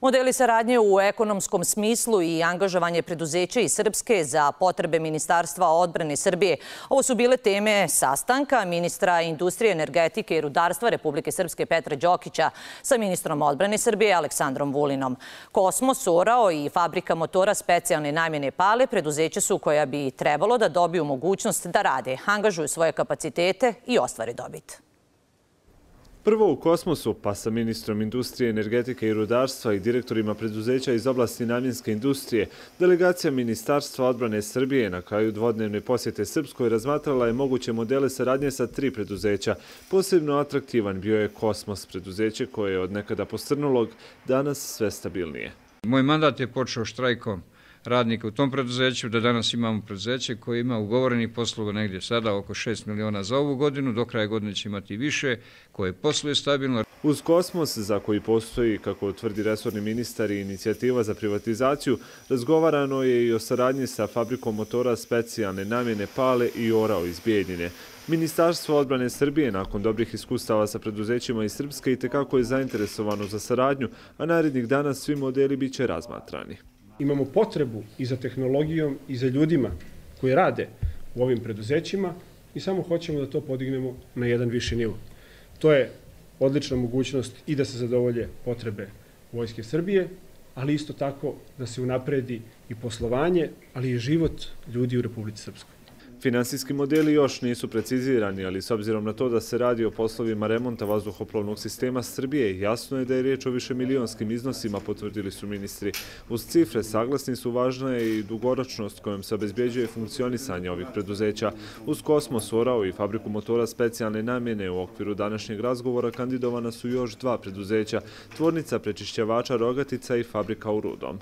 Modeli saradnje u ekonomskom smislu i angažovanje preduzeća iz Srpske za potrebe Ministarstva odbrane Srbije. Ovo su bile teme sastanka ministra industrije, energetike i rudarstva Republike Srpske Petra Đokića sa ministrom odbrane Srbije Aleksandrom Vulinom. Kosmos, Orao i fabrika motora specijalne namjene Pale preduzeća su koja bi trebalo da dobiju mogućnost da rade, angažuju svoje kapacitete i ostvare dobit. Prvo u Kosmosu, pa sa ministrom industrije, energetike i rudarstva i direktorima preduzeća iz oblasti namjenske industrije, delegacija Ministarstva odbrane Srbije na kraju dvodnevne posjete Srpskoj razmatrala je moguće modele saradnje sa 3 preduzeća. Posebno atraktivan bio je Kosmos, preduzeće koje je od nekada posrnulog danas sve stabilnije. Moj mandat je počeo štrajkom radnika u tom preduzeću, da danas imamo preduzeće koje ima ugovorenih poslova negdje sada oko 6 miliona za ovu godinu, do kraja godine će imati više, koje posluje stabilno. Uz Kosmos, za koji postoji, kako tvrdi resorni ministar i inicijativa za privatizaciju, razgovarano je i o saradnji sa fabrikom motora specijalne namjene Pale i Orao iz Bijeljine. Ministarstvo odbrane Srbije, nakon dobrih iskustava sa preduzećima iz Srpske, itekako je zainteresovano za saradnju, a narednih dana svi modeli biće razmatrani. Imamo potrebu i za tehnologijom i za ljudima koji rade u ovim preduzećima i samo hoćemo da to podignemo na jedan viši nivo. To je odlična mogućnost i da se zadovolje potrebe Vojske Srbije, ali isto tako da se unapredi i poslovanje, ali i život ljudi u Republici Srpskoj. Finansijski modeli još nisu precizirani, ali s obzirom na to da se radi o poslovima remonta vazduhoplovnog sistema Srbije, jasno je da je riječ o višemilijonskim iznosima, potvrdili su ministri. Uz cifre saglasni su, važna je i dugoročnost kojom se obezbjeđuje funkcionisanje ovih preduzeća. Uz Kosmos, Orao i fabriku motora specijalne namjene u okviru današnjeg razgovora kandidovana su još 2 preduzeća, tvornica prečišćavača Rogatica i fabrika u Rudom.